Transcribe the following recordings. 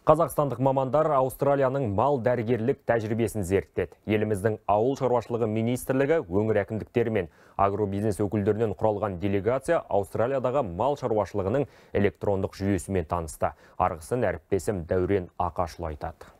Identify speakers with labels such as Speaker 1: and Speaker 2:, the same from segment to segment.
Speaker 1: Қазақстандық мамандар Аустралияның мал дәрігерлік тәжірибесін зерттеді. Еліміздің ауыл шаруашылығы министрлігі, өңір әкімдіктері мен агробизнес өкілдерінен құралған делегация Аустралиядағы мал шаруашылығының электрондық жүйесімен танысты. Арғысын әріптесім Дәурен Ақашұлы айтады.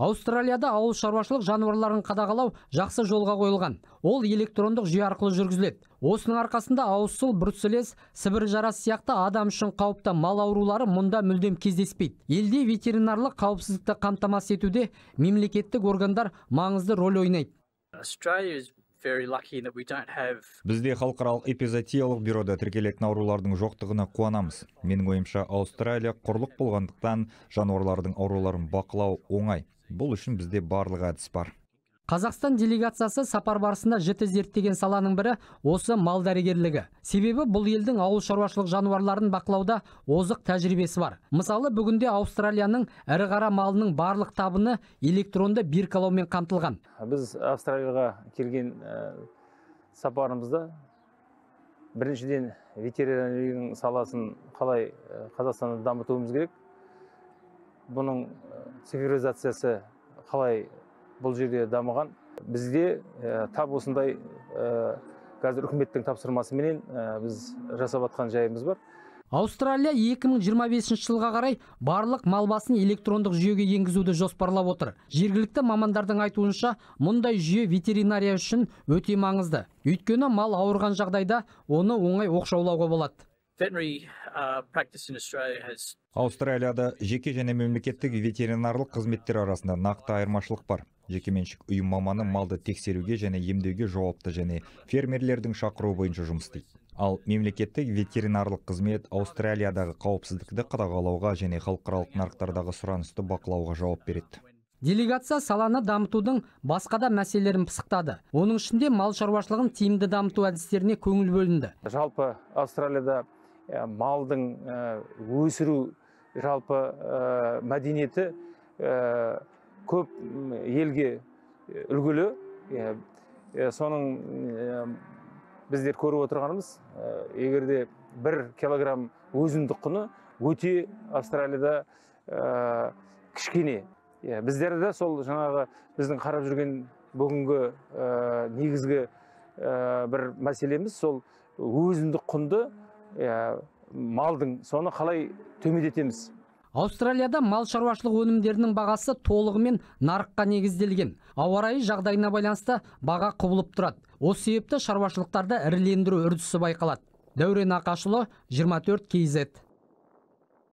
Speaker 2: Аустралияда ауыл шаруашылық жануарларын қадағалау жақсы жолға қойылған. Ол электрондық жүйе арқылы жүргізіледі. Осының арқасында ауызсыл, бруцеллез, сібір жарасы сияқты адам үшін қауіпті мал аурулары мұнда мүлдем кездеспейді. Елде ветеринарлық қауіпсіздікті қамтамасыз етуде мемлекеттік органдар маңызды рөл ойнайды.
Speaker 3: Бізде халықаралық эпизоотиялық бюрода тіркелетін аурулардың жоқтығына қуанамыз. Менің ойымша, Аустралия құрлық болғандықтан жануарлардың ауруларын бақылау оңай. Бұл үшін бізде барлық әдіс бар.
Speaker 2: Қазақстан делегациясы сапар барысында жіті зерттеген саланың бірі осы мал дәрігерлігі. Себебі бұл елдің ауыл шаруашылық жануарларын бақылауда озық тәжірибесі бар. Мысалы, бүгінде Аустралияның ірі қара малының барлық табыны электронды биркалаумен қамтылған.
Speaker 4: Біз Австралияға келген сапарымызда біріншіден ветеринарияның саласын қалай Қазақстанда дамытуымыз керек. Бұның цифровизациясы қалай бұл жерде дамыған. Бізде тап осындай қазір үкіметтің тапсырмасыменен біз жасап атқан жайымыз бар.
Speaker 2: Аустралия 2025 жылға қарай барлық мал басын электрондық жүйеге енгізуді жоспарлап отыр. Жергілікті мамандардың айтуынша, мұндай жүйе ветеринария үшін өте маңызды. Өйткені мал ауырған жағдайда оны оңай оқшаулауға болады.
Speaker 3: Аустралияда жеке және мемлекеттік ветеринарлық қызметтер арасында нақты айырмашылық бар. Жекеменшік ұйым маманы малды тексеруге және емдеуге жауапты және фермерлердің шақыруы бойынша жұмыс істейді. Ал мемлекеттік ветеринарлық қызмет Аустралиядағы қауіпсіздікті қадағалауға және халықаралық нарықтардағы сұранысты бақылауға жауап береді.
Speaker 2: Делегация саланы дамытудың басқа да мәселелерін пысықтады. Оның ішінде мал шаруашылығын тиімді дамыту әдістеріне көңіл бөлінді.
Speaker 4: Жалпы Аустралияда малдың өсіру жалпы мәдениеті көп елге үлгілі. Соның біздер көріп отырғанымыз, егерде 1 килограмм өзіндік құны өте Австралияда кішкене. Біздерде сол жаңағы біздің қарап жүрген бүгінгі негізгі бір мәселеміз сол өзіндік құнды малдың соны қалай төмендетеміз.
Speaker 2: Аустралияда мал шаруашылық өнімдерінің бағасы толығымен нарыққа негізделген. Ауа райы жағдайына байланысты баға құбылып тұрады. Осы себепті шаруашылықтарда ірілендіру үрдісі байқалады. Дәурен Ақашұлы, 24 KZ.